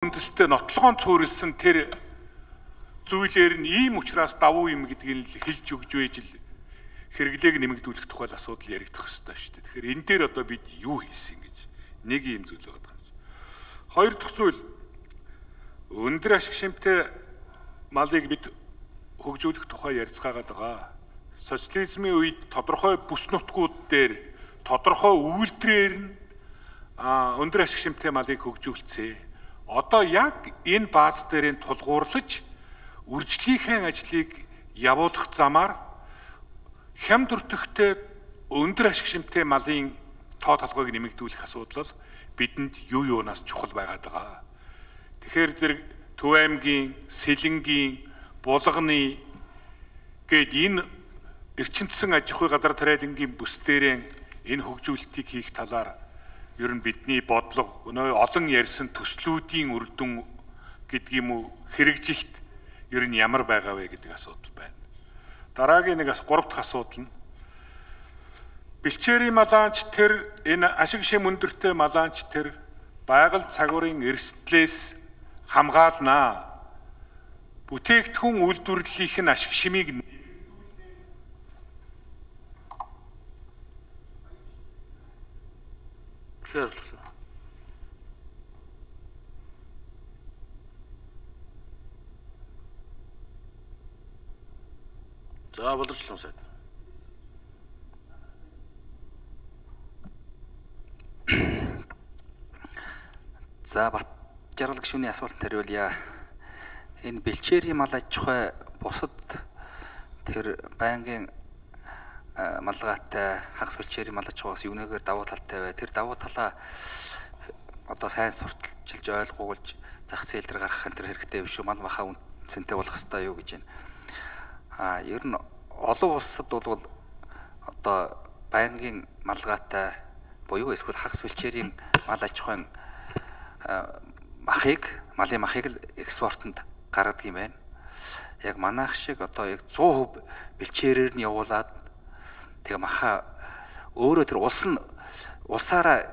үндэстэй нотлогоон цөөрөлсөн тэр зүйлээр нь ийм учраас давуу юм гэдгийг л хэлж өгж байж л хэрэглээг нэмэгдүүлэх тухай асуудал яригдах ёстой шүү дээ. Тэгэхээр энэ дээр одоо бид юу хийсэн гэж нэг юм зүйл байгаа юм. Хоёр дахь зүйл өндөр ашиг шимтэй малыг бид хөгжүүлэх тухай ярилцгаагаад байгаа. Социализмын үед тодорхой бүс нутгууд дээр тодорхой үйлдвэрээр нь өндөр ашиг шимтэй малыг хөгжүүлцээ. Одоо яг энэ бааз дээрээ тулгуурлаж үржлийнхээ ажлыг явуулах замаар хямд өртөгтэй өндөр ашиг шимтэй малын тоо толгойг нэмэгдүүлэх асуудал бидэнд юу юунаас чухал байгаад байгаа. Тэгэхээр зэрэг Төв аймгийн, Сэлэнгийн, Булганы гээд энэ эрчимцэн аж ахуй газар тариалангийн бүс дээрээ энэ хөгжүүлэлтийг хийх талаар ер нь бидний бодлого олон ярьсан төслүүдийн үр дүн гэдэг юм уу хэрэгжилт ер нь ямар байгаа вэ гэдэг асуудал байна. Дараагийн нэг 3 дахь асуудал нь бэлчээрийн малаанч тэр энэ ашиг шим өндөртэй малаанч тэр байгаль цагуурын эрсдлээс хамгаалнаа. Бүтээгдэхүүн үйлдвэрлэлийнх нь ашиг шимийг За боловсролын сайд. За Бат жаргал гишүүний асуултанд хариулъя. Энэ бэлчээрийн мал аж ахуй бусад тэр байнгын малгайтай хагас бэлчээрийн мал аж ахуйгаас юунээр давуу талтай бай. Тэр давуу талаа одоо сайн сурталчилж ойлгуулж зах зээл дээр гаргах энэ хэрэгтэй биш үү? Мал махаа үнцэнтэй болох хэрэгтэй юу гэж байна. Ер нь олон улсад бол одоо байнгын малгайтай буюу эсвэл хагас бэлчээрийн мал аж ахуйн малын махыг л экспортод гаргадаг юм байна. Яг манайх шиг одоо яг 100% бэлчээрээр нь явуулаад тэгээ махаа өөрөө тэр улсаараа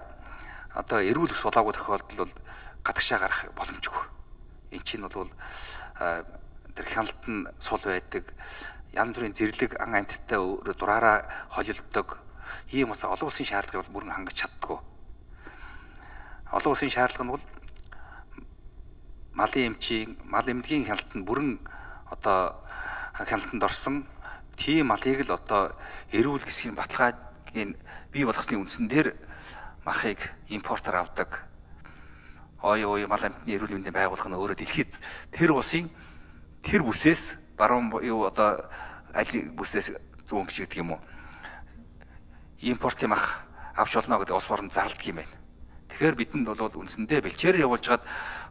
одоо эрүүл ус болоогүй тохиолдол бол гадагшаа гарах боломжгүй. Энд чинь бол тэр хяналт нь сул байдаг, янз бүрийн зэрлэг ан амьтдтай өөрөө дураараа холилддог. Ийм улс олон улсын шаардлагыг бол бүрэн хангаж чаддаггүй. Олон улсын шаардлага нь бол малын эмчийн, мал эмнэлгийн хяналтанд бүрэн одоо хяналтанд орсон тийм малыг л одоо эрүүл гэсгийн баталгаагийн бий болгосны үндсэн дээр махыг импортоор авдаг. Мал амьтны эрүүл мэндийн байгууллага нь өөрөө дэлхийд тэр улсын тэр бүсээс баруун юу одоо аль бүсээс зүүн гэж гэдэг юм уу? Импортын мах авч болно гэдэг улс орн зарладаг юм байна. Тэгэхээр бидэнд бол үндсэндээ бэлчээр явуулж хаад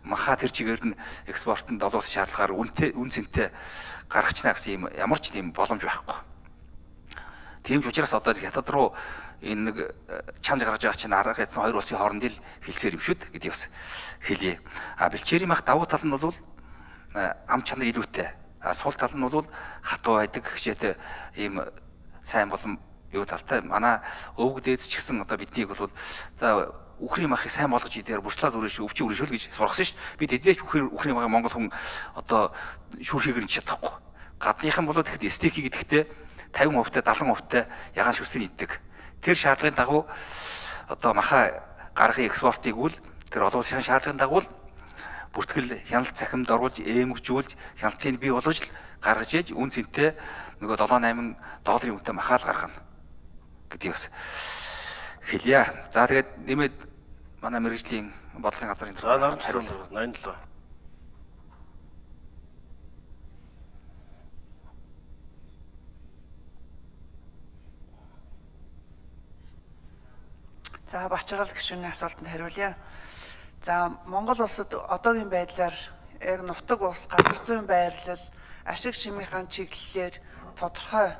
махаа тэр чигээр нь экспортод олон улсын шаардлагаар үн цэнтэй гаргачна гэсэн юм ямар ч тийм боломж байхгүй. Тийм ч учраас одоо хятад руу энэ нэг чанж гаргаж байгаа чинь арга хязсан хоёр улсын хоорондын хилцээр юм шүү гэдэг бас хэлье. Бэлчээрийн мах давуу тал нь бол ам чанар илүүтэй. Сул тал нь бол хатуу байдаг хичээтэй ийм сайн болон юу талтай. Манай өвөг дээдс ч гэсэн одоо биднийг бол за үхрийн махыг сайн болгож идээр бурчлаад үрээш өвчин үрээшүүл гэж сургасан шүү дээ. Бид эзээч үхрийн махыг монгол хүн одоо шүүрхийг нь чадахгүй. Гадныхан болоод ихэд стейкийг идэхдээ 50%-тай 70%-тай ягаан шүсрийн иддэг. Тэр шаардлагын дагуу одоо махаа гаргахын экспортыг үл тэр олон улсын шаардлагын дагуу бүртгэл хяналт цахимд оруулж ээмгжүүлж хяналтыг бий болгож гаргаж ээж үн цэнтэй нөгөө 7-8 долларын үнэтэй махаал гаргана гэдгийг бас хэлье. За тэгээд нэмээд манай мэргэжлийн бодлогын газрын хариулт 87. За Бачаргал гишүүний асуултанд хариулъя. За Монгол улсад одоогийн байдлаар яг нутаг ус, газар зүйн байрлал, ашиг шимийнхаа чиглэлээр тодорхой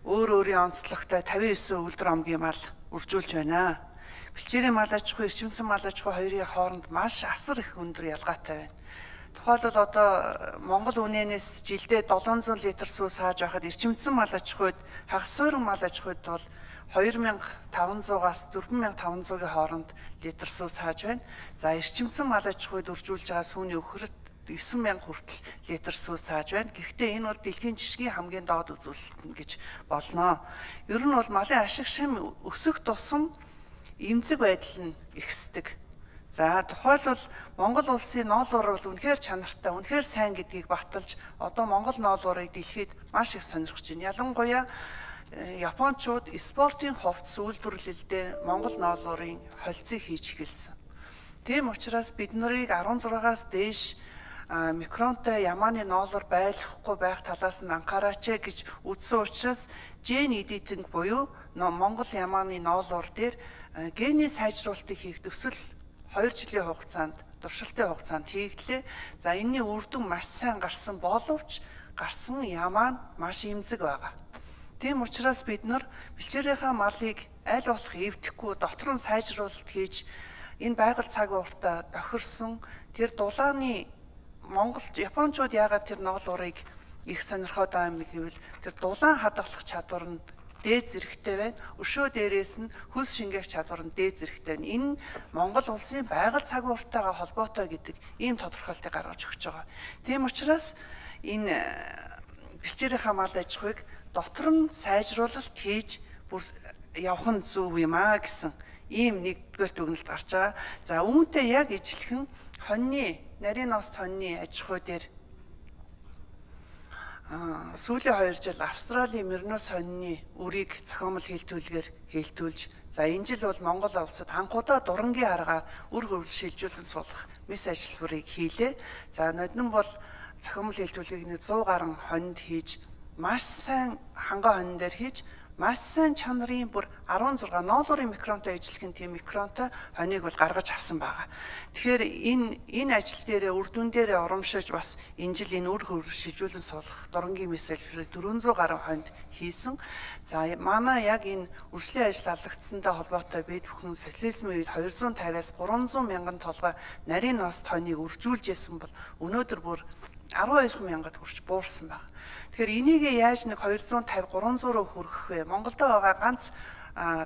өөрийн онцлогтой 59 үлдэр омгийн мал үржүүлж байна. Бэлчээрийн мал аж ахуй, эрчимцэн мал аж ахуй хоёрын хооронд маш асар их өндөр ялгаатай байна. Тухайлбал одоо Монгол үнэнээс жилдээ 700 литр сүү сааж байхад эрчимцэн мал аж ахуйд хагас суурин мал аж ахуйд бол 2500-аас 4500-ийн хооронд литр сүү сааж байна. За эрчимсэн мал аж ахуйд үржүүлж байгаа сүүний өхөрт 9000 хүртэл литр сүү сааж байна. Гэхдээ энэ бол дэлхийн жишгийн хамгийн доод үзүүлэлт гэж болно. Ер нь бол малын ашиг шим өсөх тусам эмзэг байдал нь ихсдэг. За тухайлбал Монгол улсын ноол уур бол үнэхээр чанартай, үнэхээр сайн гэдгийг баталж одоо Монгол ноол уурыг дэлхийд маш их сонирхож байна. Ялангуяа Япончууд спортын хувьд үйлдвэрлэлдээ Монгол ноол уурын холцыг хийж эхэлсэн. Тийм учраас бид нарыг 16-аас дээш микронтой ямааны ноолор байлгахгүй байх талаас нь анхаараач гэж үзсэн учраас ген эдитинг буюу Монгол ямааны ноолор дээр гений сайжруулалтыг хийх төсөл 2 жилийн хугацаанд туршилтын хугацаанд хийгдлээ. За энэний үр дүн маш сайн гарсан боловч гарсан ямаа нь маш эмзэг байгаа. Тийм учраас бид нар бэлчээрийнхаа малыг аль болох эвдэхгүй дотор нь сайжруулалт хийж энэ байгаль цаг ууртаа тохирсон тэр дулааны Монголд Япончууд яагаад тэр ноол уурыг их сонирхоод байгаа юм гэвэл тэр дулаан хадгалах чадвар нь дээд зэрэгтэй байна. Өшөө дээрээс нь хөлс шингээх чадвар нь дээд зэрэгтэй байна. Энэ Монгол улсын байгаль цаг ууртайгаа холбоотой гэдэг ийм тодорхойлтыг гаргаж өгч байгаа. Тийм учраас энэ бэлчээрийнхаа мал аж ахуйг дотор нь сайжруулалт хийж бүр явах нь зөв юм аа гэсэн ийм нэгдүгээр дүгнэлт гарч байгаа. За үүнтэй яг ижилхэн хоньны нарийн ност хоньны аж ахуй дээр сүүлийн 2 жил Австралийн Мернос хоньны үрийг зохиомол хэлтүүлгээр хэлтүүлж за энэ жил бол Монгол улсад анхудаа дурангийн аргаар үр хөвөл шилжүүлэн суулгах мис ажилтнуудыг хийлээ. За ноднон бол зохиомол хэлтүүлгийг 100 гаруй хонд хийж маш сайн ханган хонь дээр хийж маш сайн чанарын бүр 16 ноолуурын микронтой ижилхэн тийм микронтой хоньыг бол гаргаж авсан байгаа. Тэгэхээр энэ ажил дээрээ үр дүн дээрээ урамшиж бас энэ жил энэ үр хөвөл шилжүүлэн суулгах дурангийн мессежийг 400 гаруй хонд хийсэн. За манай яг энэ үржлийн ажил алгацсантай холбоотой бид бүхэн социализмын үед 250-аас 300 мянган толгой нарийн ност хоньыг үржүүлж исэн бол өнөөдөр бүр 12,000-д хүрч буурсан байна. Тэгэхээр энийг яаж нэг 250 300 руу хүргэх вэ? Монголд байгаа ганц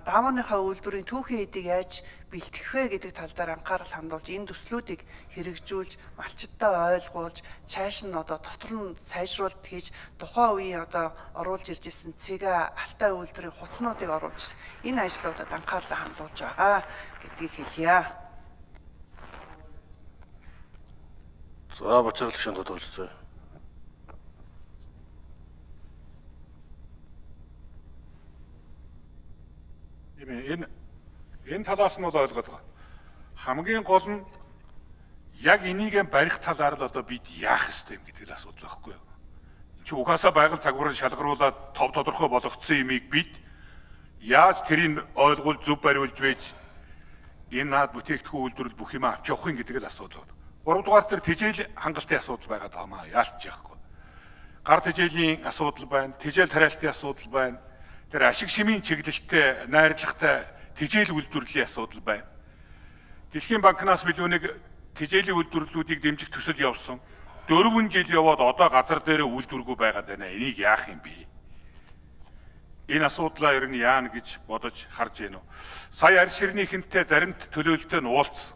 даавныхаа үйлдвэрийн түүхийн эдийг яаж бэлтгэх вэ гэдэг тал дээр анхаарал хандуулж энэ төслүүдийг хэрэгжүүлж, малчдаа ойлгуулж, цааш нь одоо дотор нь сайжруулалт хийж тухайн үеийн одоо оруулж ирж исэн цэгээ алтай үйлдвэрийн хуцнуудыг оруулж энэ ажлуудад анхаарлаа хандуулж байгаа гэдгийг хэлье. За бочрол шин тодорхойлцоо. Энэ талаас нь бол ойлгоод байгаа. Хамгийн гол нь яг энийг барих талаар л одоо бид яах ёстой юм гэдэг л асуудал байхгүй юу? Энд чинь угаасаа байгаль цагварыг шалгаруулад тодорхой болгоцсон юмыг бид яаж тэрийг ойлгуул зөв бариулж байж энэ наад бүтээгдэхүүн үйлдвэрлэл бүх юм авч явах юм гэдэг л асуудал байна. 3 дугаар дээр тэжээл хангалтын асуудал байгаад байгаа юм яалтж яахгүй. Гар тэжээлийн асуудал байна, тэжээл тариалтын асуудал байна. Тэр ашиг шимийн чиглэлтэй, найрлагатай тэжээл үйлдвэрлэлийн асуудал байна. Дэлхийн банкнаас билүүнийг тэжээлийн үйлдвэрлэлүүдийг дэмжих төсөл явуулсан. 4 жил яваад одоо газар дээр үйлдвэргүй байгаад байна. Энийг яах юм бэ? Энэ асуудлаа ер нь яана гэж бодож харж байна уу? Сая арь ширнийхэнтэй заримт төлөөлөлтөд нь уулзсан.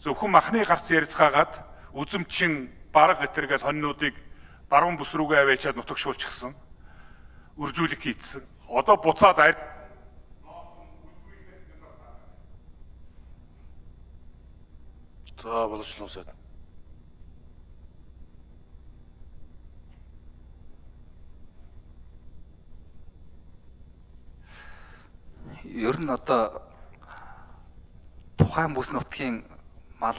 Зөвхөн махны гарц ярьцгаагаад үзэмчин бараг гэтэргээл хоньнуудыг баруун бүс рүүгээ аваачаад нутагшуулчихсан. Үржүүлэг хийцэн. Одоо буцаад ард За боловчлон сайд. Ер нь одоо тухайн бүс нутгийн мал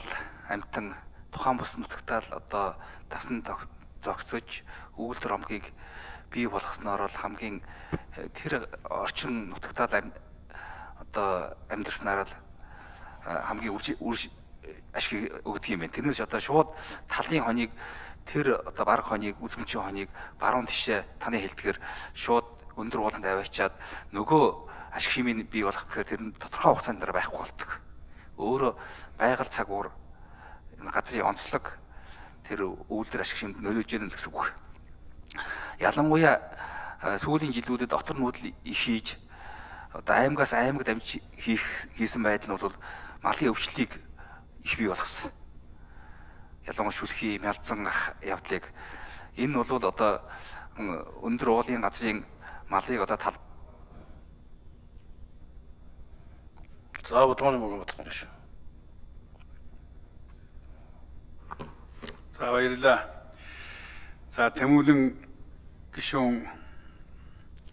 амтан тухайн бүс нутагтаа л одоо дасан зогсож өгүүлбэр омгийг бий болгосноор бол хамгийн тэр орчин нутагтаа одоо амьдрснаар л хамгийн ашиг өгдөг юм байна. Тэрнээс одоо шууд талын хоныг тэр одоо бараг хоныг үзмчийн хоныг баруун тишээ таны хэлдгээр шууд өндөр ууланд аваачаад нөгөө ашиг шимийг бий болгох гэхээр тэр нь тодорхой хугацаанд дараа байхгүй болдог. Өөрө байгаль цаг уур энэ газрын онцлог тэр үйлдвэр ашиг шимд нөлөөлж яана гэсэн үг. Ялангуяа сүүлийн жилүүдэд дотор нүүдэл их хийж одоо аймагаас аймагт амж хийсэн байдал нь бол малын өвчлөлийг их бий болгосон. Ялангуяа шүлхий, мялзан явдлыг энэ бол одоо өндөр уулын газрын малыг одоо тал. За бодмоны мөнгө бодлоо шүү. За баярлалаа. За Тэмүүлэн гишүүн